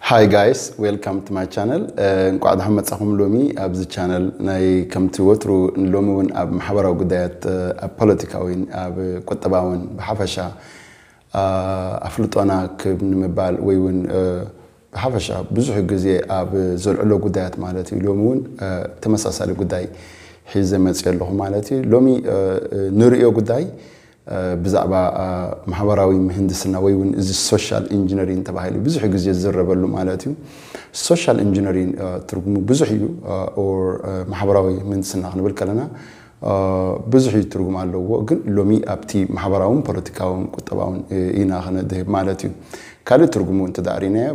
Hi guys, welcome to my channel. እንቋዕ ደሓን መጻኹም። ሎሚ ኣብዚ ቻነል ናይ ከምቲ ወትሩ ሎሚ እውን ኣብ ማሕበራዊ ጉዳያት፣ ኣብ ፖለቲካዊን ኣብ ቁጠባውን ብሓፈሻ ኣፍልጦና ክብ ንምባል ወይ እውን ብሓፈሻ ብዙሕ ግዜ ኣብ ዘልዕሎ ጉዳያት ማለት እዩ። ሎሚ እውን ተመሳሳሊ ጉዳይ ሒዘ መፅእ ኣለኹ ማለት እዩ። ሎሚ ንርእዮ ጉዳይ ብዛዕባ ማሕበራዊ ምህንድስና ወይ እውን እዚ ሶሻል ኢንጂነሪንግ ተባሂሉ ብዙሕ ግዜ ዝዝረበሉ ማለት እዩ። ሶሻል ኢንጂነሪንግ ትርጉሙ ብዙሕ እዩ። ኦር ማሕበራዊ ምህንድስና ክንብል ከለና ብዙሕ እዩ ትርጉም ኣለዎ። ግን ሎሚ ኣብቲ ማሕበራውን ፖለቲካውን ቁጠባውን ኢና ክነድህብ ማለት እዩ። ካልእ ትርጉሙ እንተ ዳእሪናዮ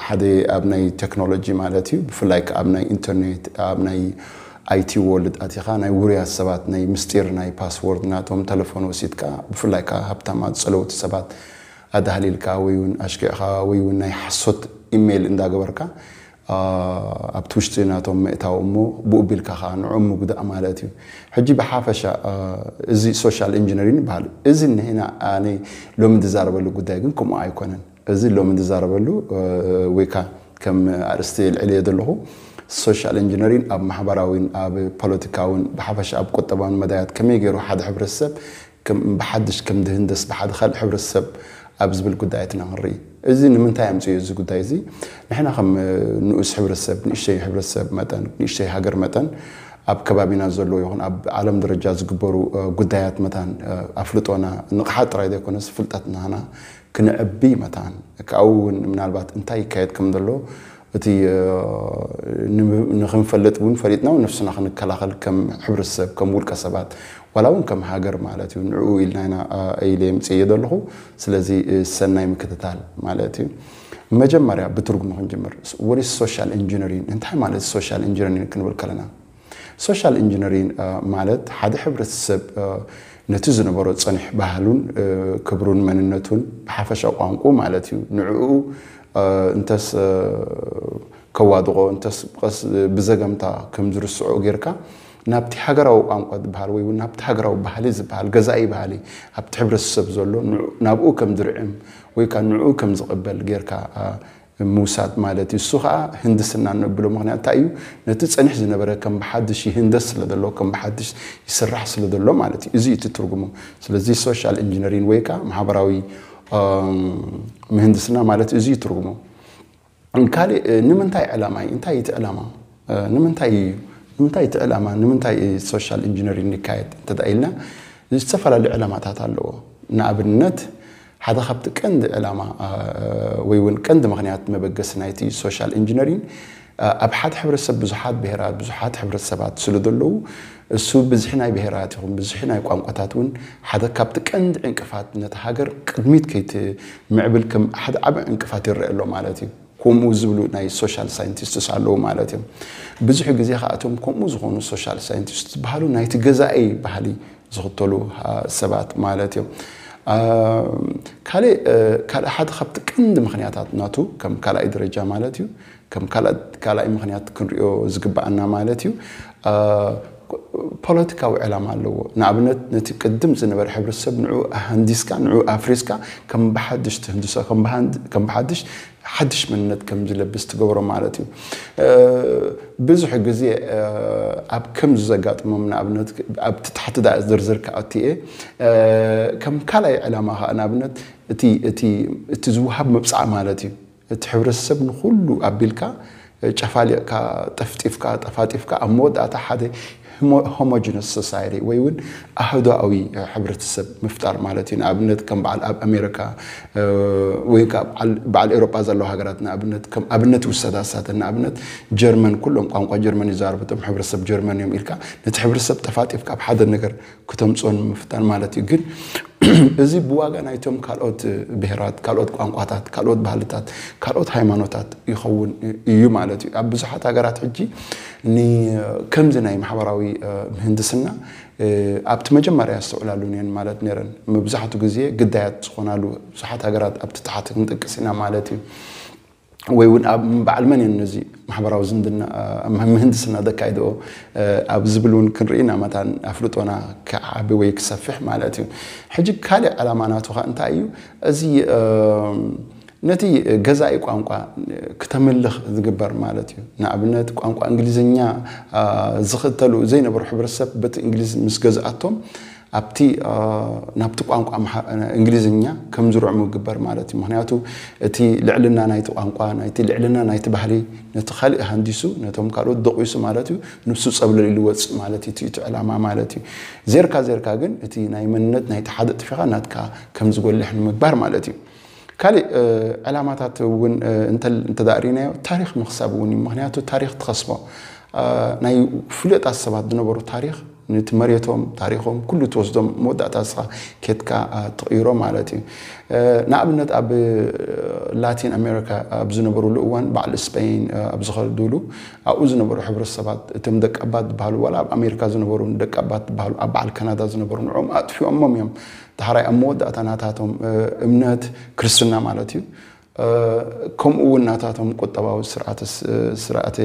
ሓደ ኣብ ናይ ቴክኖሎጂ ማለት እዩ። ብፍላይ ኣብ ናይ ኢንተርኔት፣ ኣብ ናይ ኣይቲ ወርልድ ኣቲኻ ናይ ውሩያት ሰባት ናይ ምስጢር ናይ ፓስወርድ ናቶም ተለፎን ወሲድካ፣ ብፍላይ ከዓ ሃብታማት ጸለውቲ ሰባት ኣዳህሊልካ ወይ እውን ኣሽኪዕካ ወይ እውን ናይ ሓሶት ኢሜይል እንዳገበርካ ኣብቲ ውሽጢ ናቶም ምእታው እሞ ብኡ ቢልካ ከዓ ንዕኦም ምጉዳእ ማለት እዩ። ሕጂ ብሓፈሻ እዚ ሶሻል ኢንጂነሪንግ ይበሃል። እዚ ንሕና ኣነ ሎሚ ዝዛረበሉ ጉዳይ ግን ከምኡ ኣይኮነን። እዚ ሎሚ ዝዛረበሉ ወይ ከዓ ከም ኣርእስቲ ልዕልዮ ዘለኹ ሶሻል ኢንጂነሪንግ ኣብ ማሕበራዊን ኣብ ፖለቲካውን ብሓፈሻ ኣብ ቁጠባውን መዳያት ከመይ ገይሩ ሓደ ሕብረተሰብ ብሓድሽ ከም ዝህንደስ ብሓደ ካልእ ሕብረተሰብ ኣብ ዝብል ጉዳያት ኢና ክንርኢ። እዚ ንምንታይ ኣምፅዮ እዚ ጉዳይ እዚ? ንሕና ከም ንኡስ ሕብረተሰብ፣ ንእሽተይ ሕብረተሰብ መጠን፣ ንእሽተይ ሃገር መጠን ኣብ ከባቢና ዘሎ ይኹን ኣብ ዓለም ደረጃ ዝግበሩ ጉዳያት መታን ኣፍልጦና ንቕሓት ጥራይ ዘይኮነስ ፍልጠትናና ክንዕቢ መታን ካብኡ እውን ምናልባት እንታይ ይካየድ ከም ዘሎ እቲ ንክንፈልጥ እውን ፈሊጥና እውን ነፍስና ክንከላኸል ከም ሕብረተሰብ ከም ውልቀ ሰባት ዋላ እውን ከም ሃገር ማለት እዩ። ንዕኡ ኢልና ኢና ኢለ የምፅእዮ ዘለኹ። ስለዚ ሰናይ ምክትታል ማለት እዩ። መጀመርያ ብትርጉሙ ክንጅምር። ወደ ሶሻል ኢንጂነሪንግ እንታይ ማለት ሶሻል ኢንጂነሪንግ ክንብል ከለና ሶሻል ኢንጂነሪንግ ማለት ሓደ ሕብረተሰብ ነቲ ዝነበሮ ፀኒሕ ባህሉን ክብሩን መንነቱን ብሓፈሻ ቋንቁ ማለት እዩ። ንዕኡ እንተስ ከዋድቆ እንተስ ብዘገምታ ከም ዝርስዖ ጌርካ ናብቲ ሃገራዊ ቋንቋ ዝበሃል ወይ እውን ናብቲ ሃገራዊ ባህሊ ዝበሃል ገዛኢ ባህሊ ኣብቲ ሕብረተሰብ ዘሎ ናብኡ ከም ዝርዕም ወይ ከዓ ንዕኡ ከም ዝቕበል ጌርካ ምውሳድ ማለት እዩ። እሱ ከዓ ህንድስና እንብሎ ምክንያት እንታይ እዩ? ነቲ ፀኒሕ ዝነበረ ከም ብሓድሽ ይህንደስ ስለ ዘሎ ከም ብሓድሽ ይስራሕ ስለ ዘሎ ማለት እዩ። እዚ እቲ ትርጉሙ። ስለዚ ሶሻል ኢንጂነሪንግ ወይ ከዓ ማሕበራዊ ምህንድስና ማለት እዚ እዩ ትርጉሙ። ካልእ ንምንታይ ዕላማ እዩ? እንታይ እቲ ዕላማ? ንምንታይ እዩ ንምንታይ እቲ ዕላማ ንምንታይ ሶሻል ኢንጂነሪንግ ይካየድ እንተ ኢልና ዝተፈላለዩ ዕላማታት ኣለዎ። ንኣብነት ሓደ ካብቲ ቀንዲ ዕላማ ወይ እውን ቀንዲ ምክንያት መበገሲ ናይቲ ሶሻል ኢንጂነሪንግ ኣብ ሓደ ሕብረተሰብ ብዙሓት ብሄራት ብዙሓት ሕብረተሰባት ስለ ዘለዉ እሱ ብዝሒ ናይ ብሄራት ይኹን ብዝሒ ናይ ቋንቋታት እውን ሓደ ካብቲ ቀንዲ ዕንቅፋት ነቲ ሃገር ቅድሚት ከይትምዕብል ከም ሓደ ዓቢ ዕንቅፋት ይረአ ኣሎ ማለት እዩ። ከምኡ ዝብሉ ናይ ሶሻል ሳይንቲስትስ ኣለዉ ማለት እዮም። ብዙሕ ግዜ ከኣቶም ከምኡ ዝኾኑ ሶሻል ሳይንቲስት ዝበሃሉ ናይቲ ገዛኢ ባህሊ ዝኽተሉ ሰባት ማለት እዮም። ካልእ ካልእ ሓደ ካብቲ ቀንዲ ምክንያታት ናቱ ከም ካልኣይ ደረጃ ማለት እዩ ከም ካልኣይ ምክንያት ክንሪኦ ዝግባኣና ማለት እዩ። ፖለቲካዊ ዕላማ ኣለዎ። ንኣብነት ነቲ ቅድም ዝነበረ ሕብረተሰብ ንዕኡ ኣሃንዲስካ ንዕኡ ኣፍሪስካ ከም ብሓድሽ ትህንድሶ ከም ብሓድሽ ሓድሽ መንነት ከም ዝለብስ ትገብሮ ማለት እዩ። ብዙሕ ግዜ ኣብ ከምዚ ዘጋጥሞም ንኣብነት ኣብቲ ታሕቲ ዳ ዝርዝር ክኣቱ እየ። ከም ካልኣይ ዕላማ ከዓ ንኣብነት እቲ ዝውሃብ መብፅዓ ማለት እዩ። እቲ ሕብረተሰብ ንኩሉ ኣቢልካ ጨፋሊቕካ ጠፍጢፍካ ጠፋጢፍካ ኣብ መወዳእታ ሓደ ሆሞጂነስ ሶሳይቲ ወይ እውን ኣህዶኣዊ ሕብረተሰብ ምፍጣር ማለት እዩ። ንኣብነት ከም በዓል ኣብ ኣሜሪካ ወይ ከዓ በዓል ኤሮጳ ዘለዉ ሃገራት ንኣብነት ከም ኣብነት ይውሰዳ ሳተን ንኣብነት ጀርመን ኩሎም ቋንቋ ጀርመን ይዛረቡ እቶም ሕብረተሰብ ጀርመን እዮም ኢልካ ነቲ ሕብረተሰብ ጠፋጢፍካ ኣብ ሓደ ነገር ክተምፅኦ ንምፍታን ማለት እዩ። ግን እዚ ብዋጋ ናይቶም ካልኦት ብሄራት ካልኦት ቋንቋታት ካልኦት ባህልታት ካልኦት ሃይማኖታት ይኸውን እዩ ማለት እዩ። ኣብ ብዙሓት ሃገራት ሕጂ ከምዚ ናይ ማሕበራዊ ምህንድስና ኣብቲ መጀመርያ የስተውዕላሉን እየን ማለት ነረን። መብዛሕቱ ግዜ ግዳያት ዝኾናሉ ብዙሓት ሃገራት ኣብቲ ታሕቲ ክንጠቅስ ኢና ማለት እዩ። ወይ እውን ኣብ በዓል መን እየን ነዚ ማሕበራዊ ዝምድና ምህንድስና ዘካይድኦ ኣብ ዝብል እውን ክንርኢ ኢና መታን ኣፍልጦና ክዓቢ ወይ ክሰፍሕ ማለት እዩ። ሕጂ ካልእ ዕላማ ናቱ ከዓ እንታይ እዩ? እዚ ነቲ ገዛኢ ቋንቋ ክተምልኽ ዝግበር ማለት እዩ። ንኣብነት ቋንቋ እንግሊዝኛ ዝኽተሉ ዘይነበሩ ሕብረተሰብ በቲ እንግሊዝ ምስ ገዝኣቶም ኣብቲ ናብቲ ቋንቋ እንግሊዝኛ ከም ዝርዕሙ ይግበር ማለት እዩ። ምክንያቱ እቲ ልዕልና ናይቲ ቋንቋ ናይቲ ልዕልና ናይቲ ባህሊ ነቲ ካልእ ሃንዲሱ ነቶም ካልኦት ደቂሱ ማለት እዩ። ንሱ ጸብለል ኢሉ ወፅእ ማለት እዩ እቲ ዕላማ ማለት እዩ። ዜርካ ዜርካ ግን እቲ ናይ መንነት ናይቲ ሓደ ጥፊኻ ናትካ ከም ዝጎልሕ ንምግባር ማለት እዩ። ካልእ ዕላማታት እውን እንተዳእሪናዮ ታሪኽ ምኽሳብ እውን እዩ። ምክንያቱ ታሪኽ ትኸስቦ ናይ ፍሉጣት ሰባት ዝነበሩ ታሪኽ ነቲ መሬቶም ታሪኾም ኩሉ ትወስዶም መወዳእታ ስኻ ኬትካ ትቕይሮ ማለት እዩ። ንኣብነት ኣብ ላቲን ኣሜሪካ ኣብ ዝነበሩሉ እዋን በዓል ስፔን ኣብ ዝኸዱሉ ኣብኡ ዝነበሩ ሕብረተሰባት እቶም ደቀባት ዝበሃሉ ዋላ ኣብ ኣሜሪካ ዝነበሩ ደቀባት ዝበሃሉ ኣብ በዓል ካናዳ ዝነበሩ ንዕኦም ኣጥፊኦሞም እዮም። ዳሕራይ ኣብ መወዳእታ ናታቶም እምነት ክርስትና ማለት እዩ። ከምኡ እውን ናታቶም ቁጠባዊ ስርዓተ ስርዓተ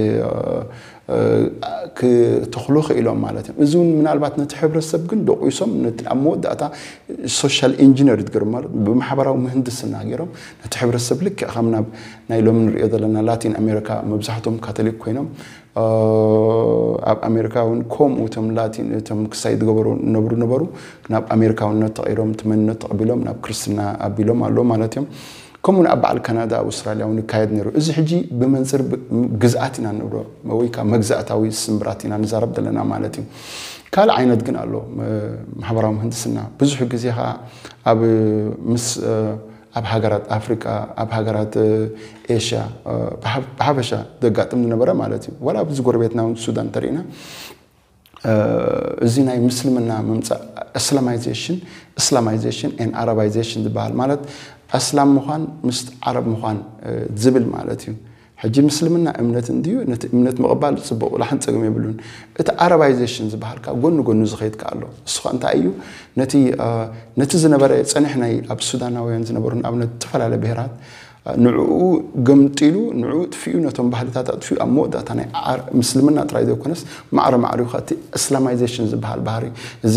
ክተኽሉ ክኢሎም ማለት እዮም። እዚ እውን ምናልባት ነቲ ሕብረተሰብ ግን ደቂሶም ነቲ ኣብ መወዳእታ ሶሻል ኢንጂነር ዝገርም ማለት ብማሕበራዊ ምህንድስና ገይሮም ነቲ ሕብረተሰብ ልክዕ ከም ናብ ናይ ሎሚ ንሪኦ ዘለና ላቲን ኣሜሪካ መብዛሕቶም ካቶሊክ ኮይኖም ኣብ ኣሜሪካ እውን ከምኡ እቶም ላቲን እቶም ክሳይ ዝገበሩ ነብሩ ነበሩ ናብ ኣሜሪካውነት ተቐይሮም እቲ መንነት ተቐቢሎም ናብ ክርስትና ኣቢሎም ኣለዉ ማለት እዮም። ከምኡ ኣብ በዓል ካናዳ ኣውስትራልያ እውን ይካየድ ነይሩ። እዚ ሕጂ ብመንፅር ግዝኣት ኢና ንብሎ ወይ ከዓ መግዛእታዊ ስምብራት ኢና ንዛረብ ዘለና ማለት እዩ። ካልእ ዓይነት ግን ኣሎ ማሕበራዊ ምህንድስና ብዙሕ ግዜ ከዓ ኣብ ምስ ኣብ ሃገራት ኣፍሪቃ ኣብ ሃገራት ኤሽያ ብሓፈሻ ዘጋጥም ዝነበረ ማለት እዩ። ዋላ ኣብዚ ጎረቤትና እውን ሱዳን ተሪእና እዚ ናይ ምስልምና ምምፃእ እስላማይዜሽን እስላማይዜሽን ን ኣረባይዜሽን ዝበሃል ማለት ኣስላም ምዃን ምስ ዓረብ ምዃን ዝብል ማለት እዩ። ሕጂ ምስልምና እምነት እንድዩ ነቲ እምነት ምቕባል ፅቡቕ ላሕን ፀግም የብሉን። እቲ ኣረባይዜሽን ዝበሃልካ ጎኒ ጎኑ ዝኸይድ ከ ኣሎ እሱ ከ እንታይ እዩ? ነቲ ነቲ ዝነበረ ፀኒሕ ናይ ኣብ ሱዳናውያን ዝነበሩ ንኣብነት ዝተፈላለየ ብሄራት ንዕኡ ገምጢሉ ንዕኡ ጥፊኡ ነቶም ባህልታት ኣጥፊኡ ኣብ መወዳእታ ናይ ምስልምና ጥራይ ዘይኮነስ ማዕረ ማዕሪኡ እቲ እስላማይዜሽን ዝበሃል ባህሪ እዚ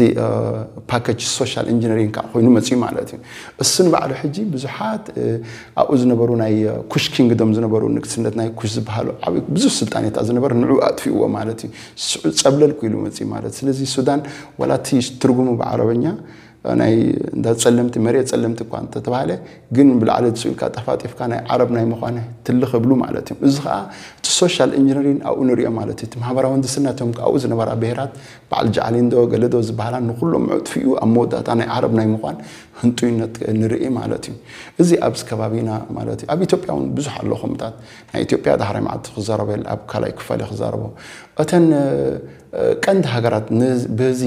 ፓኬጅ ሶሻል ኢንጂነሪንግ ከዓ ኮይኑ መፅኡ ማለት እዩ። እሱ ንባዕሉ ሕጂ ብዙሓት ኣብኡ ዝነበሩ ናይ ኩሽ ኪንግዶም ዝነበሩ ንግስነት ናይ ኩሽ ዝበሃሉ ዓብዪ ብዙሕ ስልጣኔታት ዝነበረ ንዕኡ ኣጥፊእዎ ማለት እዩ። ስዑ ፀብለል ክኢሉ መፅኡ ማለት ስለዚ ሱዳን ዋላ እቲ ትርጉሙ ብዓረበኛ ናይ እንዳ ጸለምቲ መሬት ጸለምቲ እኳ እንተተባህለ ግን ብላዕሊ ዝስኡልካ ጠፋጢፍካ ናይ ዓረብ ናይ ምዃነ ትልኽ እብሉ ማለት እዮም። እዚ ከዓ እቲ ሶሻል ኢንጂነሪን ኣብኡ ንሪኦ ማለት እዩ። እቲ ማህበራዊ ህንድስና እቶም ኣብኡ ዝነበራ ብሄራት በዓል ጃዕሊንዶ ገለዶ ዝበሃላ ንኩሎም ኣጥፊኡ ኣብ መወዳእታ ናይ ዓረብ ናይ ምዃን ህንጡይነት ንርኢ ማለት እዩ። እዚ ኣብዚ ከባቢና ማለት እዩ። ኣብ ኢትዮጵያ እውን ብዙሕ ኣሎ ከምታት ናይ ኢትዮጵያ ዳሕራይ መዓልቲ ክዛረበል ኣብ ካልኣይ ክፋል ክዛረቦ እተን ቀንዲ ሃገራት በዚ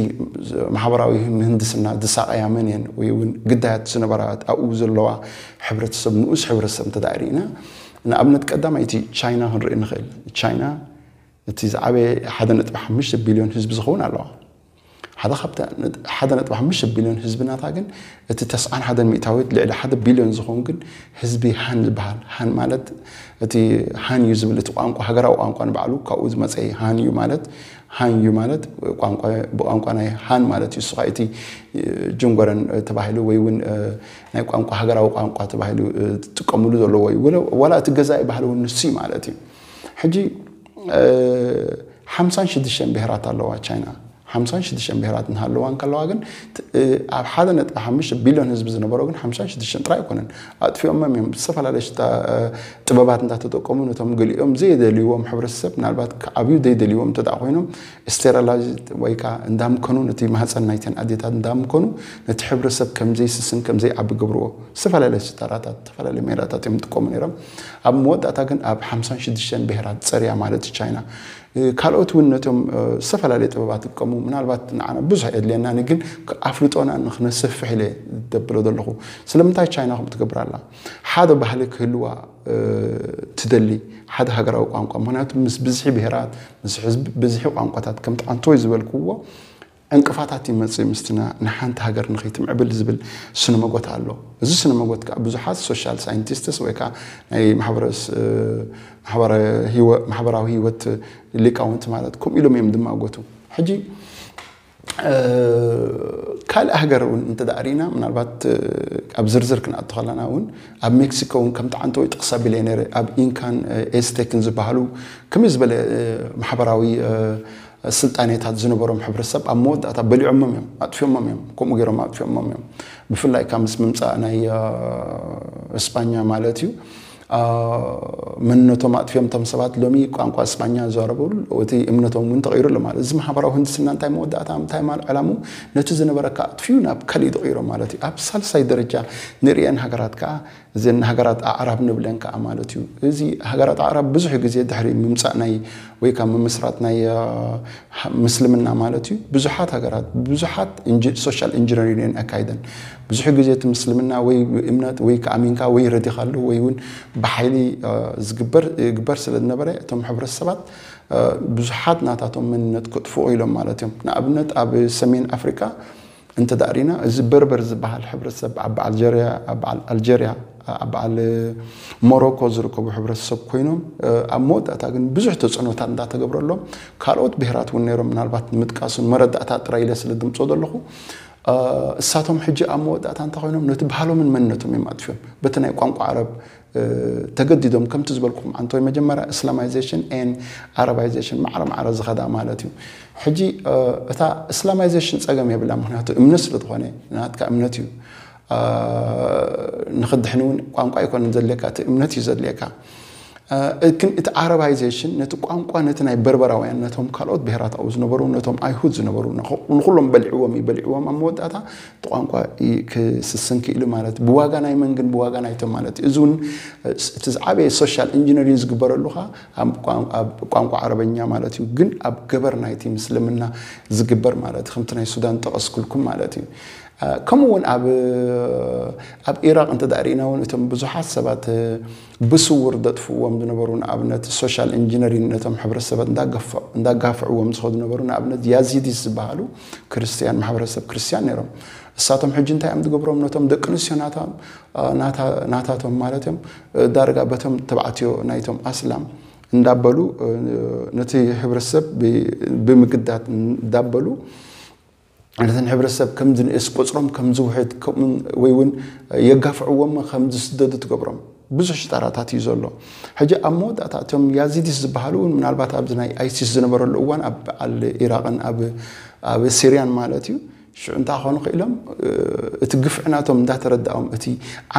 ማሕበራዊ ምህንድስና ዝሳቐያ መን እየን ወይ እውን ግዳያት ዝነበራ ኣብኡ ዘለዋ ሕብረተሰብ ንኡስ ሕብረተሰብ እንተ ርኢና ንኣብነት ቀዳማይቲ ቻይና ክንርኢ ንኽእል። ቻይና እቲ ዝዓበየ ሓደ ነጥቢ ሓሙሽተ ቢልዮን ህዝቢ ዝኸውን ኣለዋ። ሓደ ካብቲ ሓደ ነጥቢ ሓሙሽተ ቢልዮን ህዝቢ ናታ ግን እቲ ተስዓን ሓደን ሚእታዊት ልዕሊ ሓደ ቢልዮን ዝኸውን ግን ህዝቢ ሃን ዝበሃል። ሃን ማለት እቲ ሃን እዩ ዝብል እቲ ቋንቋ ሃገራዊ ቋንቋ ንባዕሉ ካብኡ ዝመፀ ሃን እዩ ማለት ሃን እዩ ማለት ቋንቋ ብቋንቋ ናይ ሃን ማለት እዩ። እሱ ከዓ እቲ ጅንጎረን ተባሂሉ ወይ እውን ናይ ቋንቋ ሃገራዊ ቋንቋ ተባሂሉ ዝጥቀምሉ ዘለዎ እዩ። ወላ እቲ ገዛኢ ባህሊ እውን ንሱ እዩ ማለት እዩ። ሕጂ ሓምሳን ሽዱሽተን ብሄራት ኣለዋ ቻይና። ሓምሳን ሽዱሽተን ብሄራት እናሃለዋ እንከለዋ ግን ኣብ ሓደ ነጥቢ ሓሙሽተ ቢልዮን ህዝቢ ዝነበሮ ግን ሓምሳን ሽዱሽተን ጥራይ ኣይኮነን ኣጥፊኦሞም እዮም። ዝተፈላለየ ሽታ ጥበባት እንዳተጠቀሙ ነቶም ገሊኦም ዘይደልይዎም ሕብረተሰብ ምናልባት ክዓብዩ ዘይደልይዎም እንተ ኮይኖም ስቴራላይዝ ወይ ከዓ እንዳምከኑ ነቲ ማህፀን ናይተን ኣዴታት እንዳምከኑ ነቲ ሕብረተሰብ ከምዘይስስን ከምዘይዓቢ ገብርዎ። ዝተፈላለየ ሽታራታት ዝተፈላለየ ሜላታት እዮም ዝጥቀሙ ነይሮም። ኣብ መወዳእታ ግን ኣብ ሓምሳን ሽዱሽተን ብሄራት ፀርያ ማለት ቻይና ካልኦት እውን ነቶም ዝተፈላለየ ጥበባት ዝጥቀሙ ምናልባት ንዓና ብዙሕ የድልየና ግን ኣፍልጦና ንክነስፍሕ ኢለ ደብሎ ዘለኹ። ስለምንታይ ቻይና ከምኡ ትገብር ኣላ? ሓደ ባህሊ ክህልዋ ትደሊ፣ ሓደ ሃገራዊ ቋንቋ። ምክንያቱ ምስ ብዝሒ ብሄራት ምስ ህዝቢ ብዝሒ ቋንቋታት ከምቲ ዓንተወይ ዝበልክዎ ዕንቅፋታት ይመፅእ ምስትና ንሓንቲ ሃገር ንኸይትምዕብል ዝብል ስነ መጎት ኣሎ። እዚ ስነ መጎት ከዓ ብዙሓት ሶሻል ሳይንቲስትስ ወይ ከዓ ናይ ማሕበራዊ ህይወት ሊቃውንቲ ማለት ከምኡ ኢሎም እዮም ዝማጎቱ። ሕጂ ካልእ ሃገር እውን እንተ ርኢና ምናልባት ኣብ ዝርዝር ክንኣቱ ከለና እውን ኣብ ሜክሲኮ እውን ከምቲ ዓንተወይ ጥቕስ ኣቢለ ነረ ኣብ ኢንካን ኤስቴክን ዝበሃሉ ከመይ ዝበለ ማሕበራዊ ስልጣኔታት ዝነበሮም ሕብረተሰብ ኣብ መወዳእታ በሊዖሞም እዮም ኣጥፊኦሞም እዮም ከምኡ ገይሮም ኣጥፊኦሞም እዮም። ብፍላይ ካብ ምስ ምምፃእ ናይ እስጳኛ ማለት እዩ። መንነቶም ኣጥፊኦም እቶም ሰባት ሎሚ ቋንቋ እስጳኛ ዝዛረቡ እቲ እምነቶም እውን ተቐይሩ ኣሎ ማለት እዚ ማሕበራዊ ህንድስና እንታይ መወዳእታ እንታይ ማል ዕላሙ ነቲ ዝነበረካ ኣጥፊኡ ናብ ካልእ ዝቕይሮ ማለት እዩ። ኣብ ሳልሳይ ደረጃ ንርእየን ሃገራት ከዓ እዘን ሃገራት ኣዕራብ ንብለን ከዓ ማለት እዩ። እዚ ሃገራት ኣዕራብ ብዙሕ ግዜ ድሕሪ ምምፃእ ናይ ወይ ካብ ምምስራት ናይ ምስልምና ማለት እዩ ብዙሓት ሃገራት ብዙሓት ሶሻል ኢንጂነሪንግ ኣካይደን ብዙሕ ግዜ እቲ ምስልምና ወይ እምነት ወይ ከኣሚንካ ወይ ረዲኻሉ ወይ እውን ብሓይሊ ዝግበር ይግበር ስለ ዝነበረ እቶም ሕብረተሰባት ብዙሓት ናታቶም መንነት ክጥፍኡ ኢሎም ማለት እዮም። ንኣብነት ኣብ ሰሜን ኣፍሪካ እንተ ዳእሪና እዚ በርበር ዝበሃል ሕብረተሰብ ኣብ ኣልጀርያ ኣብ ኣልጀርያ ኣብ በዓል ሞሮኮ ዝርከቡ ሕብረተሰብ ኮይኖም ኣብ መወዳእታ ግን ብዙሕ ተፅዕኖታት እንዳተገብረሎም ካልኦት ብሄራት እውን ነይሮም ምናልባት ንምጥቃሱን መረዳእታ ጥራይ ኢለ ስለ ድምፆ ዘለኹ እሳቶም ሕጂ ኣብ መወዳእታ እንተ ኮይኖም ነቲ ባህሎምን መንነቶም እዮም ኣጥፍዮም በቲ ናይ ቋንቋ ዓረብ ተገዲዶም ከምቲ ዝበልኩም ዓንተወይ መጀመርያ እስላማይዜሽን ን ኣረባይዜሽን ማዕረ ማዕረ ዝኸዳ ማለት እዩ። ሕጂ እታ እስላማይዜሽን ፀገም የብላ ምክንያቱ እምነት ስለ ዝኾነ ናትካ እምነት እዩ። ንክድሕን እውን ቋንቋ ኣይኮነን ዘድልየካ እቲ እምነት እዩ ዘድልየካ። ግን እቲ ዓረባይዜሽን ነቲ ቋንቋ ነቲ ናይ በርበራውያን ነቶም ካልኦት ብሄራት ኣብኡ ዝነበሩ ነቶም ኣይሁድ ዝነበሩ ንኩሎም በሊዕዎም እዩ በሊዕዎም ኣብ መወዳእታ እቲ ቋንቋ ክስስን ክኢሉ ማለት ብዋጋ ናይ መን ግን ብዋጋ ናይቶም ማለት እዚ እውን እቲ ዝዓበየ ሶሻል ኢንጂነሪንግ ዝግበረሉ ከዓ ኣብ ቋንቋ ዓረበኛ ማለት እዩ ግን ኣብ ገበር ናይቲ ምስልምና ዝግበር ማለት ከምቲ ናይ ሱዳን ጠቐስኩልኩም ማለት እዩ። ከምኡ እውን ኣብ ኣብ ኢራቅ እንተ ርኢና እውን እቶም ብዙሓት ሰባት ብስውር ዘጥፍዎም ዝነበሩ ንኣብነት ሶሻል ኢንጂነሪንግ ነቶም ሕብረተሰባት እንዳጋፍዕዎም ዝኸዱ ነበሩ ንኣብነት ያዚዲስ ዝበሃሉ ክርስትያን ማሕበረሰብ ክርስትያን ነይሮም። እሳቶም ሕጂ እንታይ እዮም ዝገብሮም ነቶም ደቂ ኣንስትዮ ናቶም ናታቶም ማለት እዮም ዳርጋ በቶም ተባዕትዮ ናይቶም ኣስላም እንዳበሉ ነቲ ሕብረተሰብ ብምግዳት እንዳበሉ ነተን ሕብረተሰብ ከም ዝንእስ ቁፅሮም ከም ዝውሕድ ወይ እውን የጋፍዕዎም ከም ዝስደዱ ትገብሮም ብዙሕ ሽጣራታት እዩ ዘሎ። ሕጂ ኣብ መወዳእታ እቶም ያዚዲስ ዝበሃሉ እውን ምናልባት ኣብዚ ናይ ኣይሲስ ዝነበረሉ እዋን ኣብ በዓል ኢራቅን ኣብ ሲርያን ማለት እዩ ሽዑ እንታይ ክኾኑ ክኢሎም እቲ ግፍዒ ናቶም እንዳተረዳኦም እቲ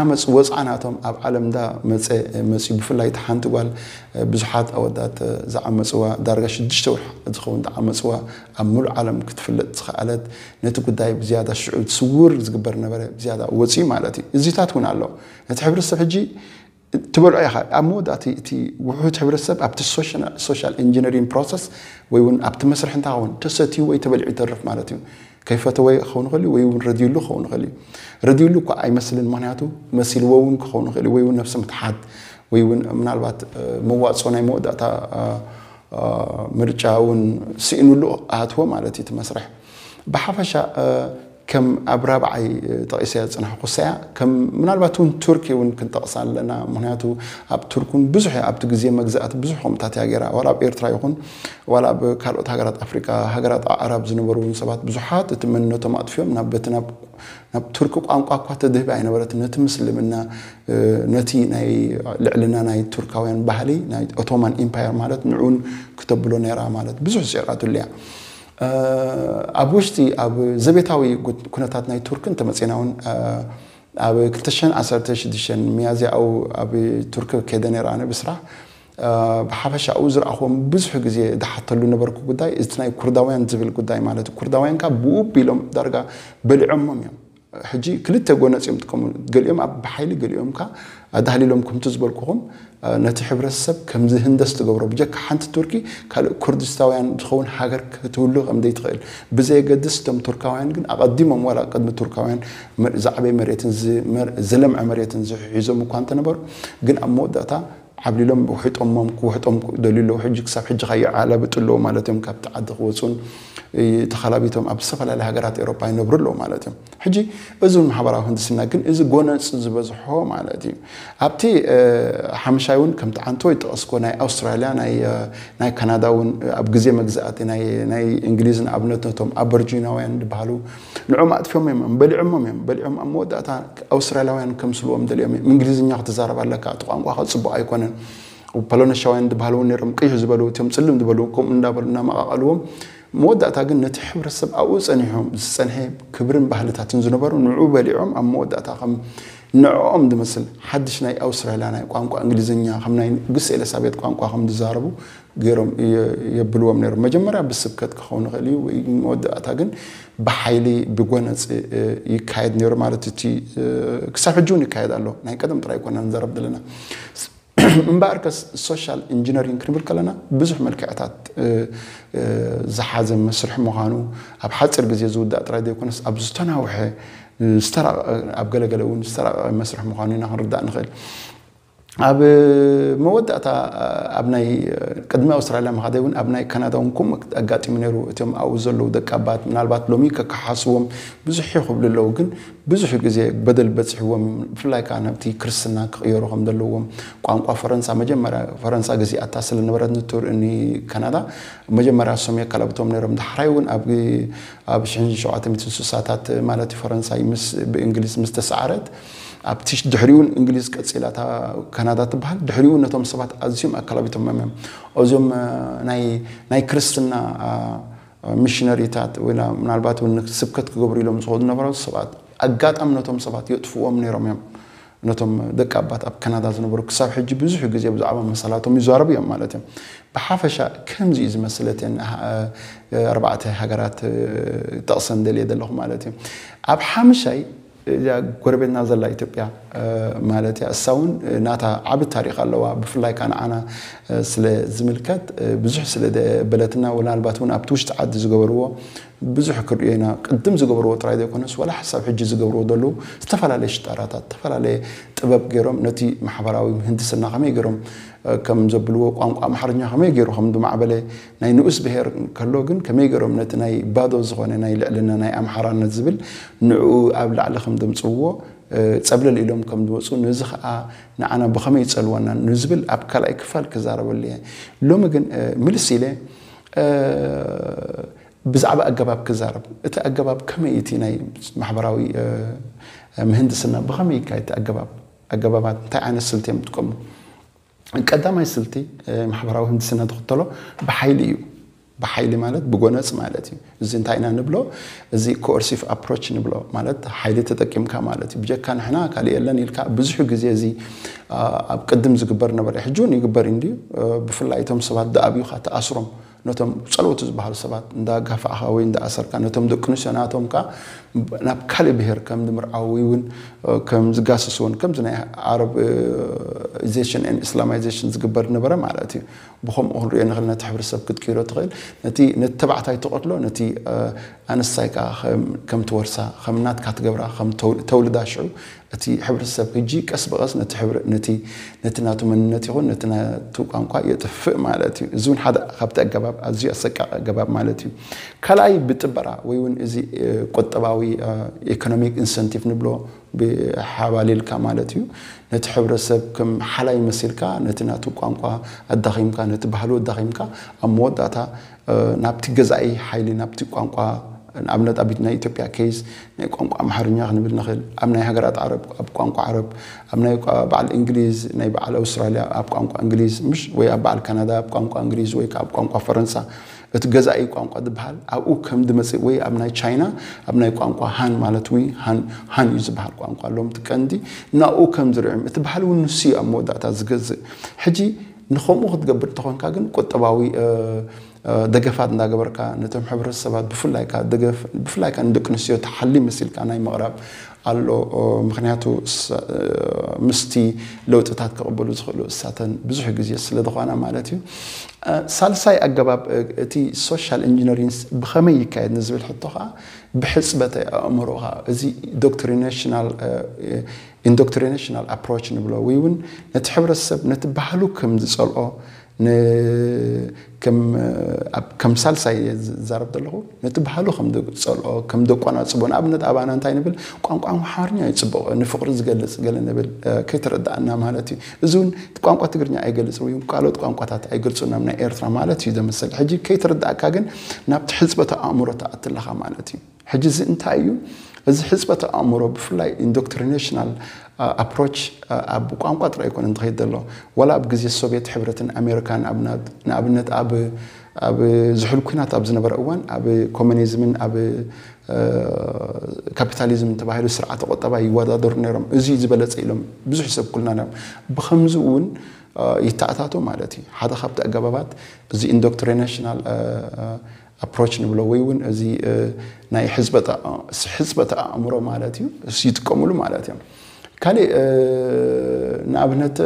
ዓመፅ ወፅዓ ናቶም ኣብ ዓለም እንዳ መፀ መፅዩ ብፍላይ እቲ ሓንቲ ጓል ብዙሓት ኣወዳት ዝዓመፅዋ ዳርጋ ሽዱሽተ ወርሒ ዝኸውን ዝዓመፅዋ ኣብ ሙሉእ ዓለም ክትፍለጥ ዝኸኣለት ነቲ ጉዳይ ብዝያዳ ሽዑ ስውር ዝግበር ነበረ ብዝያዳ ወፅዩ ማለት እዩ። እዚታት እውን ኣሎ። ነቲ ሕብረተሰብ ሕጂ ትበልዖ ኢኻ ኣብ መወዳእቲ እቲ ውሑድ ሕብረተሰብ ኣብቲ ሶሻል ኢንጂነሪንግ ፕሮሰስ ወይ እውን ኣብቲ መስርሕ እንታይ ኸውን ተሰትዩ ወይ ተበሊዑ ይተርፍ ማለት እዩ። ከይፈተወ ክኸውን ይኽእል እዩ ወይ እውን ረድዩሉ ክኸውን ይኽእል እዩ። ረድዩሉ እኳ ኣይመስልን ምክንያቱ መሲልዎ እውን ክኸውን ይኽእል እዩ ወይ እውን ነብሲ ምትሓት ወይ እውን ምናልባት መዋፅኦ ናይ መወዳእታ ምርጫ እውን ስኢኑሉ ኣትዎ ማለት እዩ እቲ መስርሕ። ብሓፈሻ ከም ኣብ ራብዓይ ጠቒሰያ ዝፅናሕኩ ሰያ ከም ምናልባት እውን ቱርኪ እውን ክንጠቕሳ ኣለና ምክንያቱ ኣብ ቱርክ እውን ብዙሕ ኣብቲ ግዜ መግዛእቲ ብዙሕ ከምታት እያ ገይራ ዋላ ኣብ ኤርትራ ይኹን ዋላ ኣብ ካልኦት ሃገራት ኣፍሪካ ሃገራት ኣዕራብ ዝነበሩ እውን ሰባት ብዙሓት እቲ መንነቶም ኣጥፍዮም ናብ በቲ ናብ ናብ ቱርኪ ቋንቋ እኳ ተድህቢ ኣይነበረትን ነቲ ምስልምና ነቲ ናይ ልዕልና ናይ ቱርካውያን ባህሊ ናይ ኦቶማን ኢምፓየር ማለት ንዕኡን ክተብሎ ነይራ ማለት ብዙሕ ስዒራትሉ እያ። ኣብ ውሽጢ ኣብ ዘቤታዊ ኩነታት ናይ ቱርክ እንተመፂና እውን ኣብ ክልተ ሽሕን ዓሰርተ ሽዱሽተን ሚያዝያ ኣብኡ ኣብ ቱርክ ከይደ ነይረ ኣነ ብስራሕ ብሓፈሻኡ ዝረኣኽዎም ብዙሕ ግዜ ዝሓተሉ ነበርኩ ጉዳይ እቲ ናይ ኩርዳውያን ዝብል ጉዳይ ማለት ኩርዳውያን ካብ ብኡ ቢሎም ዳርጋ በሊዖሞም እዮም። ሕጂ ክልተ ጎነፂ እዮም ጥቀሙ ገሊኦም ኣብ ብሓይሊ ገሊኦም ካ ኣዳህሊሎም ከምቲ ዝበልኩኹም ነቲ ሕብረተሰብ ከም ዝህንደስ ትገብሮ ብጀካ ሓንቲ ቱርኪ ካልእ ኩርድስታውያን ዝኸውን ሃገር ክትህሉ ከም ዘይትኽእል ብዘየገድስ እቶም ቱርካውያን ግን ኣቐዲሞም ዋላ ቅድሚ ቱርካውያን ዝዓበየ መሬትን ዝለምዐ መሬትን ዝሒዞም እኳ እንተነበሩ ግን ኣብ መወዳእታ ዓብሊሎም ውሒጦሞም ክውሕጦም ደልዩ ኣለዉ። ሕጂ ክሳብ ሕጂ ከይዓለብጡ ኣለዉ ማለት እዮም። ካብቲ ዓዲ ክወፁን ተኸላቢቶም ኣብ ዝተፈላለያ ሃገራት ኤውሮጳ ይነብሩ ኣለዉ ማለት እዮም። ሕጂ እዚ እውን ማሕበራዊ ህንድስና ግን እዚ ጎነፅ ዝበዝሖ ማለት እዩ። ኣብቲ ሓምሻይ እውን ከምቲ ዓንቶ ይጠቐስኮ ናይ ኣውስትራልያ ናይ ካናዳ እውን ኣብ ግዜ መግዛእቲ ናይ እንግሊዝ ንኣብነት ነቶም ኣበርጂናውያን ዝበሃሉ ንዕኦም ኣጥፊኦም እዮም በሊዖሞም እዮም በሊዖም ኣብ መወዳእታ ኣውስትራልያውያን ከምስልዎም ደልዮም እዮም። እንግሊዝኛ ክትዛረብ ኣለካ እቲ ቋንቋ ፅቡቕ ኣይኮነን። ፖሎነሻውያን ዝበሃሉ እውን ነይሮም ቅይሕ ዝበሉ እቶም ፅልም ዝበሉ ከምኡ እንዳበሉ እናመቃቀልዎም መወዳእታ ግን ነቲ ሕብረተሰብ ኣብኡ ፀኒሖም ዝፀንሐ ክብርን ባህልታትን ዝነበሩ ንዑ በሊዖም ኣብ መወዳእታ ከም ንዕኦም ዝመስል ሓድሽ ናይ ኣውስትራልያ ናይ ቋንቋ እንግሊዝኛ ከም ናይ ንግስቲ ኤልሳቤጥ ቋንቋ ከም ዝዛረቡ ገይሮም የብልዎም ነይሮም። መጀመርያ ብስብከት ክኸውን ይኽእል እዩ ወይ መወዳእታ ግን ብሓይሊ ብጎነፅ ይካየድ ነይሩ ማለት እቲ ክሳብ ሕጂ እውን ይካየድ ኣሎ። ናይ ቀደም ጥራይ ይኮና ንዘረብ ዘለና እምበኣርከስ ሶሻል ኢንጂነሪንግ ክንብል ከለና ብዙሕ መልክዕታት ዝሓዘ መስርሕ ምዃኑ ኣብ ሓፂር ግዜ ዝውዳእ ጥራይ ዘይኮነስ ኣብ ዝተናውሐ ዝተራቐቐ ኣብ ገለገለ እውን ዝተራቐቐ መስርሕ ምዃኑ ኢና ክንርዳእ ንኽእል። ኣብ መወዳእታ ኣብ ናይ ቅድሚ ኣውስትራልያ ምኻደይ እውን ኣብ ናይ ካናዳ እውን ከምኡ ኣጋጢሙ ነይሩ። እቶም ኣብኡ ዘለዉ ደቂ ኣባት ምናልባት ሎሚ ከከሓስዎም ብዙሕ ይኽብሉ ኣለዉ ግን ብዙሕ ግዜ በደል በፂሕዎም ብፍላይ ከዓ ናብቲ ክርስትና ክቕየሩ ከም ዘለዎም ቋንቋ ፈረንሳ መጀመርያ ፈረንሳ ገዚኣታ ስለነበረት ንቱር ኒ ካናዳ መጀመርያ እሶም የካላብቶም ነይሮም። ዳሕራይ እውን ኣብ ኣብ ሽሕን ሸውዓተ ሚእትን ስሳታት ማለት እዩ ፈረንሳይ ምስ ብእንግሊዝ ምስ ተሰዓረት ኣብቲ ድሕሪኡ እንግሊዝ ቀፂላ እታ ካናዳ ትበሃል። ድሕሪኡ ነቶም ሰባት ኣዝዮም ኣካላቢቶም እዮም። እዞም ናይ ናይ ክርስትና ሚሽነሪታት ወይ ምናልባት እውን ስብከት ክገብሩ ኢሎም ዝኸዱ ነበሩ ሰባት ኣጋጣሚ ነቶም ሰባት የጥፍዎም ነይሮም እዮም። ነቶም ደቂ ኣባት ኣብ ካናዳ ዝነበሩ ክሳብ ሕጂ ብዙሕ ግዜ ብዛዕባ መሰላቶም ይዛረቡ እዮም ማለት እዮም። ብሓፈሻ ከምዚ እዩ ዝመስለትን ኣርባዕተ ሃገራት ጠቕሰን ደልየ ዘለኹ ማለት እዩ። ኣብ ሓምሻይ እዚኣ ጎረቤትና ዘላ ኢትዮጵያ ማለት እያ። እሳ እውን ናታ ዓቢ ታሪክ ኣለዋ። ብፍላይ ከዓ ንዓና ስለ ዝምልከት ብዙሕ ስለ በለትና ወላልባት እውን ኣብቲ ውሽጢ ዓዲ ዝገበርዎ ብዙሕ ክርእዮ ኢና። ቅድም ዝገብርዎ ጥራይ ዘይኮነስ ዋላ ሓሳብ ሕጂ ዝገብርዎ ዘለዉ ዝተፈላለየ ሽጣራታት ዝተፈላለየ ጥበብ ገይሮም ነቲ ማሕበራዊ ምህንድስና ከመይ ገይሮም ከም ዘብልዎ ቋንቋ ኣምሓርኛ ከመይ ገይሩ ከም ዝማዕበለ ናይ ንኡስ ብሄር ከሎ ግን ከመይ ገይሮም ነቲ ናይ ባዶ ዝኾነ ናይ ልዕልና ናይ ኣምሓራነት ዝብል ንዕኡ ኣብ ላዕሊ ከም ዘምፅዎ ፀብለል ኢሎም ከም ዝመፁ ነዚ ከዓ ንዓና ብኸመይ ይፀልወና ንዝብል ኣብ ካልኣይ ክፋል ክዛረበሉ እየ። ሎሚ ግን ምልስ ኢለ ብዛዕባ ኣገባብ ክዛረብ እቲ ኣገባብ ከመይ እቲ ናይ ማሕበራዊ ምህንድስና ብኸመይ ይካየድ ኣገባብ ኣገባባት እንታይ ዓይነት ስልቲ እዮም ዝጥቀሙ? ቀዳማይ ስልቲ ማሕበራዊ ህንድስና ዝኽተሎ ብሓይሊ እዩ። ብሓይሊ ማለት ብጎነፅ ማለት እዩ። እዚ እንታይ ኢና ንብሎ? እዚ ኮኦርሲቭ ኣፕሮች ንብሎ ማለት ሓይሊ ተጠቂምካ ማለት እዩ። ብጀካ ንሕና ካልእ የለን ኢልካ ብዙሕ ግዜ እዚ ኣብ ቅድም ዝግበር ነበረ ሕጂ እውን ይግበር እንድዩ። ብፍላይ እቶም ሰባት ዝኣብዩካ ትኣስሮም ነቶም ፀለውቲ ዝበሃሉ ሰባት እንዳጋፋዕካ ወይ እንዳኣሰርካ ነቶም ደቂ ኣንስትዮ ናቶም ከዓ ናብ ካልእ ብሄር ከም ዝምርዓው ወይ እውን ከም ዝጋስስዎን ከምዚ ናይ ዓረብዜሽን እስላማይዜሽን ዝግበር ነበረ ማለት እዩ። ብከምኡ ክንሪኦ ንኽእል ነቲ ሕብረተሰብ ክትቅይሮ ትኽእል ነቲ ነቲ ተባዕታይ ትቐትሎ ነቲ ኣንስታይ ከዓ ከም ትወርሳ ከም ናትካ ትገብራ ከም ተውልዳ ሽዑ እቲ ሕብረተሰብ ሕጂ ቀስ ብቐስ ነቲ ነቲ ናቱ መንነት ይኹን ነቲ ናቱ ቋንቋ የጥፍእ ማለት እዩ። እዚ እውን ሓደ ካብቲ ኣገባብ ኣዝዩ ኣሰቃቂ ኣገባብ ማለት እዩ። ካልኣይ ብጥበራ ወይ እውን እዚ ቁጠባዊ ኢኮኖሚክ ኢንሰንቲቭ ንብሎ ብሓባሊልካ ማለት እዩ። ነቲ ሕብረተሰብ ከም ሓላይ መሲልካ ነቲ ናቱ ቋንቋ ኣዳኺምካ ነቲ ባህሉ ኣዳኺምካ ኣብ መወዳእታ ናብቲ ገዛኢ ሓይሊ ናብቲ ቋንቋ ንኣብነት ኣብ ናይ ኢትዮጵያ ኬዝ ናይ ቋንቋ ኣምሓርኛ ክንብል ንኽእል ኣብ ናይ ሃገራት ዓረብ ኣብ ቋንቋ ዓረብ ኣብ ናይ በዓል እንግሊዝ ናይ በዓል ኣውስትራልያ ኣብ ቋንቋ እንግሊዝ ምሽ ወይ ኣብ በዓል ካናዳ ኣብ ቋንቋ እንግሊዝ ወይ ኣብ ቋንቋ ፈረንሳ እቲ ገዛኢ ቋንቋ ዝበሃል ኣብኡ ከም ዝመፅእ ወይ ኣብ ናይ ቻይና ኣብ ናይ ቋንቋ ሃን ማለት ወይ ሃን እዩ ዝበሃል ቋንቋ ኣለዎም እቲ ቀንዲ ናብኡ ከም ዝርዕም እቲ ባህል እውን ንሱ እዩ ኣብ መወዳእታ ዝገዝእ ሕጂ ንኸምኡ ክትገብር እንተኾንካ ግን ቁጠባዊ ደገፋት እንዳገበርካ ነቶም ሕብረተሰባት ብፍላይካ ደገፍ ብፍላይካ ንደቂ ኣንስትዮ ተሓሊ መሲልካ ናይ ምቕራብ ኣሎ። ምክንያቱ ምስቲ ለውጥታት ክቕበሉ ዝኽእሉ እሳተን ብዙሕ ግዜ ስለ ዝኾና ማለት እዩ። ሳልሳይ ኣገባብ እቲ ሶሻል ኢንጂነሪንስ ብኸመይ ይካየድ ንዝብል ሕቶ ከዓ ብሕፅበተ ኣእምሮኻ እዚ ዶክትሪኔሽናል ኢንዶክትሪኔሽናል ኣፕሮች ንብሎ ወይ እውን ነቲ ሕብረተሰብ ነቲ ባህሉ ከም ዝፀልኦ ን- ከም ኣብ- ከም ሳልሳይ ዝዛረብ ዘለኹ ነቲ ባህሉ ከም ዝፀልኦ ከም ዘቋናፅቦ ንኣብነት ኣባና እንታይ ንብል ቋንቋ ኣምሓርኛ እዩ ፅቡቕ ንፍቕሪ ዝገልፅ ገለ ንብል ከይተረዳእና ማለት እዩ እዚ እውን ቋንቋ ትግርኛ ኣይገልፅ ወይ ካልኦት ቋንቋታት ኣይገልፁናም ናይ ኤርትራ ማለት እዩ ዘመሰል ሕጂ ከይተረዳእካ ግን ናብቲ ሕፅበተ ኣእምሮ ትኣትለኻ ማለት እዩ ሕጂ እዚ እንታይ እዩ እዚ ሕፅበተ ኣእምሮ ብፍላይ ኢንዶክትሪኔሽናል ኣፕሮች ኣብ ቋንቋ ጥራይ ኣይኮነን ዝኸይድ ዘሎ ዋላ ኣብ ግዜ ሶቪየት ሕብረትን ኣሜሪካን ንኣብነት ኣብ ኣብ ዝሑል ኩናት ኣብ ዝነበረ እዋን ኣብ ኮሚኒዝምን ኣብ ካፒታሊዝም ተባሂሉ ስርዓተ ቁጠባ ይወዳደሩ ነይሮም እዚ ዝበለፀ ኢሎም ብዙሕ ሰብ ኩልና ነም ብከምዚ እውን ይተኣታቶ ማለት እዩ ሓደ ካብቲ ኣገባባት እዚ ኢንዶክትሪኔሽናል ኣፕሮች ንብሎ ወይ እውን እዚ ናይ ሕፅበተ ኣእምሮ ማለት እዩ ይጥቀምሉ ማለት እዮም ካሊእ ንኣብነት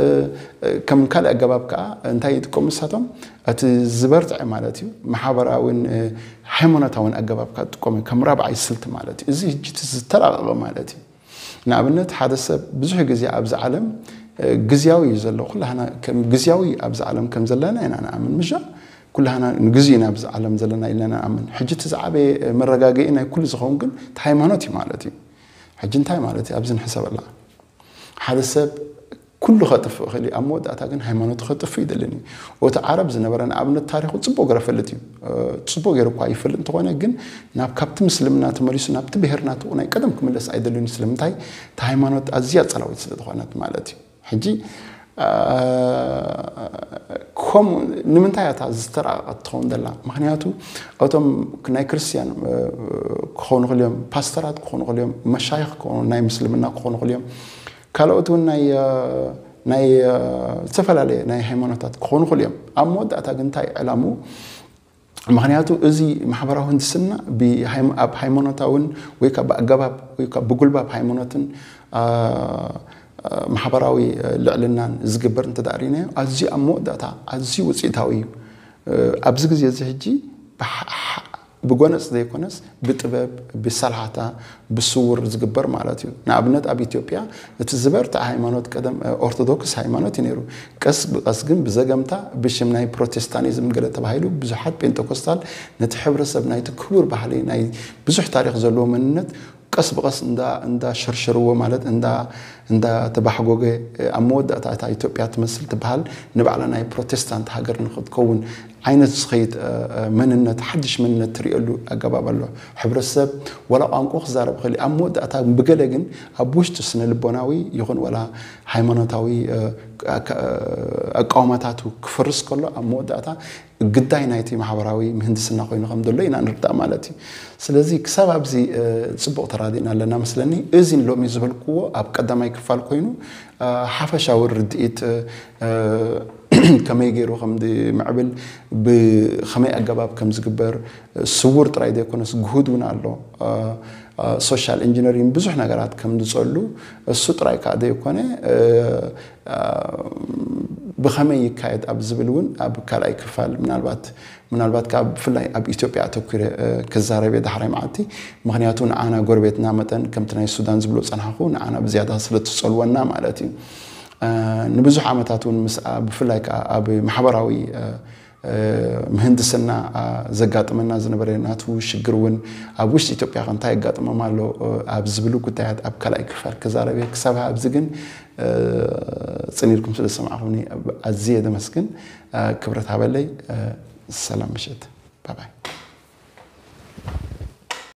ከም ካልእ ኣገባብ ከዓ እንታይ ይጥቀሙ ንሳቶም እቲ ዝበርትዐ ማለት እዩ ማሕበራዊን ሃይማኖታዊን ኣገባብ ከዓ ዝጥቀሙ ከም ራብዓይ ስልቲ ማለት እዩ እዚ ህጂ ዝተራቀቀ ማለት እዩ ንኣብነት ሓደ ሰብ ብዙሕ ግዜ ኣብዚ ዓለም ግዝያዊ እዩ ዘሎ ኩላህና ከም ግዝያዊ ኣብዚ ዓለም ከም ዘለና ኢና ንኣምን ምሻ ኩላህና ንግዜ ኢና ኣብዚ ዓለም ዘለና ኢልና ንኣምን ሕጂ እቲ ዝዓበየ መረጋገኢ ናይ ኩሉ ዝኸውን ግን እቲ ሃይማኖት እዩ ማለት እዩ ሕጂ እንታይ ማለት እዩ ኣብዚ ንሕሰበላ ሓደ ሰብ ኩሉ ከጥፍእ ክእል ኣብ መወዳእታ ግን ሃይማኖቱ ከጥፍእ ይደልን እዩ እቲ ዓረብ ዝነበረ ንኣብነት ታሪኩ ፅቡቅ ገረ ፈልጥ እዩ ፅቡቅ ገይሩ እኳ ይፈልጥ እንተኾነ ግን ናብ ካብቲ ምስልምና ተመሊሱ ናብቲ ብሄር ናቱ ናይ ቀደም ክምለስ ኣይደልን እዩ ስለምንታይ እቲ ሃይማኖት ኣዝያ ፀላዊት ስለ ዝኾነት ማለት እዩ ሕጂ ከምኡ ንምንታይ እታ ዝተረቀቀት ትኸውን ዘላ ምክንያቱ እቶም ናይ ክርስትያን ክኾኑ ክልዮም ፓስተራት ክኾኑ ክልዮም መሻይኽ ክኾኑ ናይ ምስልምና ክኾኑ ክልዮም ካልኦት እውን ናይ ናይ ዝተፈላለየ ናይ ሃይማኖታት ክኾኑ ክልዮም ኣብ መወዳእታ ግን እንታይ ዕላሙ ምክንያቱ እዚ ማሕበራዊ ህንድስና ኣብ ሃይማኖታውን ወይ ብኣገባብ ወይ ብጉልባብ ሃይማኖትን ማሕበራዊ ልዕልናን ዝግበር እንተዳሪናዮ ኣዝዩ ኣብ መወዳእታ ኣዝዩ ውፅኢታዊ እዩ ኣብዚ ግዜ እዚ ሕጂ ብጎነፅ ዘይኮነስ ብጥበብ ብሰልሓታ ብስውር ዝግበር ማለት እዩ ንኣብነት ኣብ ኢትዮጵያ እቲ ዝበርትዐ ሃይማኖት ቀደም ኦርቶዶክስ ሃይማኖት እዩ ነይሩ ቀስ ብቀስ ግን ብዘገምታ ብሽም ናይ ፕሮቴስታኒዝም ገለ ተባሂሉ ብዙሓት ጴንጠኮስታል ነቲ ሕብረተሰብ ናይቲ ክቡር ባህሊ ናይ ብዙሕ ታሪክ ዘለዎ መንነት ቀስ ብቀስ እንዳ እንዳ ሸርሸርዎ ማለት እንዳ እንዳ ተባሕጎገ ኣብ መወዳእታ እታ ኢትዮጵያ ትመስል ትበሃል ንባዕላ ናይ ፕሮቴስታንት ሃገር ንክትከውን ዓይነት ዝኸይድ መንነት ሓድሽ መንነት ትሪእሉ ኣገባብ ኣሎ ሕብረተሰብ ወላ ቋንቋ ክዛረብ ክእል ኣብ መወዳእታ ብገለ ግን ኣብ ውሽጡ ስነ ልቦናዊ ይኹን ወላ ሃይማኖታዊ ኣቃውማታቱ ክፈርስ ከሎ ኣብ መወዳእታ ግዳይ ናይቲ ማሕበራዊ ምህንድስና ኮይኑ ከም ዘሎ ኢና ንርዳእ ማለት እዩ ስለዚ ክሳብ ኣብዚ ፅቡቅ ተራዲእና ኣለና መስለኒ እዚን ሎሚ ዝበልክዎ ኣብ ቀዳማይ ክፋል ኮይኑ ሓፈሻዊ ርድኢት ከመይ ገይሩ ከም ምዕብል ብከመይ ኣገባብ ከም ዝግበር ስውር ጥራይ ዘይኮነስ ግሁድ እውን ኣሎ ሶሻል ኢንጂነሪን ብዙሕ ነገራት ከም ዝፀሉ እሱ ጥራይ ከዓ ዘይኮነ ብኸመይ ይካየድ ኣብ ዝብል እውን ኣብ ካልኣይ ክፋል ምናልባት ምናልባት ካብ ብፍላይ ኣብ ኢትዮጵያ ኣተኩረ ክዛረብ እየ ዳሕራይ መዓልቲ ምክንያቱ ንዓና ጎረቤትና መጠን ከምቲ ናይ ሱዳን ዝብሎ ፀናሕኹ ንዓና ብዝያዳ ስለትፀልወና ማለት እዩ ንብዙሕ ዓመታት እውን ምስ ብፍላይ ከዓ ኣብ ማሕበራዊ ምህንድስና ዘጋጥመና ዝነበረ ናቱ ሽግር እውን ኣብ ውሽጢ ኢትዮጵያ ከ እንታይ የጋጥሞም ኣሎ ኣብ ዝብሉ ጉዳያት ኣብ ካልኣይ ክፋል ክዛረብ እየ ክሳብ ኣብዚ ግን ፅን ኢልኩም ስለ ዝሰማዕኹምኒ ኣዝየ ደመስግን ክብረት ሃበለይ ሰላም ምሽት ባባይ